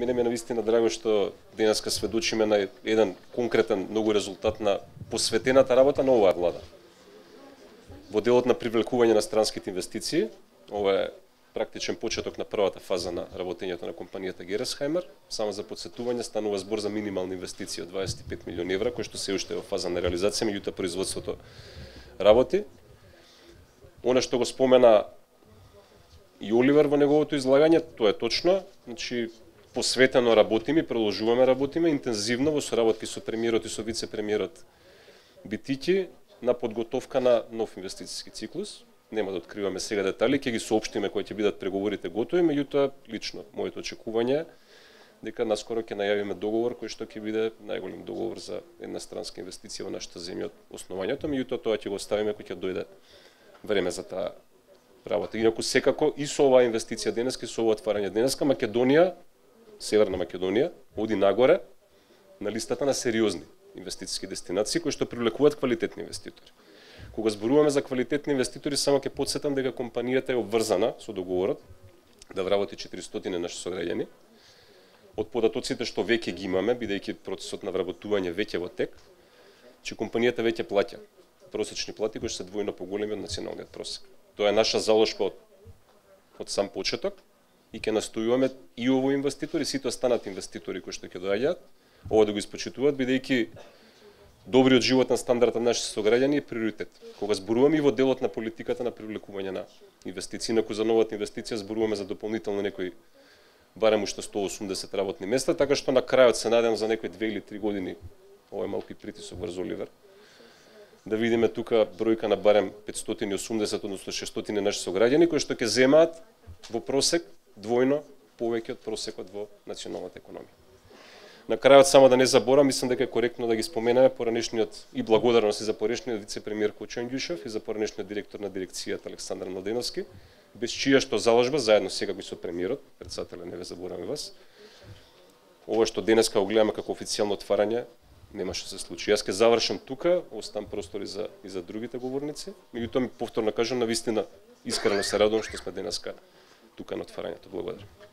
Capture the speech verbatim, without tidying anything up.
мене ми е навистина драго што денеска сведочиме на еден конкретен многу резултат на посветената работа на оваа влада. Во делот на привлекување на странските инвестиции, ова е практичен почеток на првата фаза на работењето на компанијата Гересхаймер. Само за подсетување станува збор за минимални инвестиции од дваесет и пет милиони евра, кои што се уште е во фаза на реализација, меѓутоа производството работи. Она што го спомена и Оливер во неговото излагање, тоа е точно, значи посветено работиме, продолжуваме работиме интензивно во соработки со премиерот и со вице-премиерот Битики на подготовка на нов инвестициски циклус. Нема да откриваме сега детали, ќе ги соопштиме кои ќе бидат преговорите готови, меѓутоа лично моето очекување е дека наскоро ќе најавиме договор кој што ќе биде најголем договор за една странска инвестиција во нашата земја од основањето, меѓутоа тоа ќе го оставиме кога ќе дојде време за таа работа. Инаку секако и со оваа инвестиција денеска и со ова отварање денеска Македонија, Северна Македонија, оди нагоре на листата на сериозни инвестициски дестинации кои што привлекуваат квалитетни инвеститори. Кога зборуваме за квалитетни инвеститори, само ќе потсетам дека компанијата е обврзана со договорот да вработи четиристотини наши сограѓани. Од податоците што веќе ги имаме, бидејќи процесот на вработување веќе во тек, че компанијата веќе плаќа просечни плати кои се двојно поголеми од националниот просек. Тоа е наша заложба од, од сам почеток и ќе настојуваме и овој инвеститор и сите останати инвеститори кои што ќе доаѓаат ова да го испочитуваат, бидејќи добриот животен стандард на нашите сограѓани е приоритет. Кога зборуваме и во делот на политиката на привлекување на инвестиции, инаку за новата инвестиција зборуваме за дополнително некои барем уште сто и осумдесет работни места, така што на крајот се надевам за некои две или три години, ова е малку и притисок врз Оливер, да видиме тука бројка на барем петстотини и осумдесет, односно шестстотини наши сограѓани кои што ќе земаат во просек двојно повеќе од просекот во националната економија. На крајот само да не заборам, мислам дека е коректно да ги споменеме поранешниот и благодарности за поранешниот вице-премиер Кочо Ангјушев и за поранешниот директор на дирекцијата Александар Младеновски, без чија што заложба заедно сега и со премиерот, председателя не ве забораваме вас. Ова што денеска го гледаме како официјално отварање немаше се случи. Јас ќе завршам тука, оставам простори за и за другите говорници. Меѓутоа ми повторно кажам, навистина искрено се радувам што сме денеска тука на отварањето. Благодарам.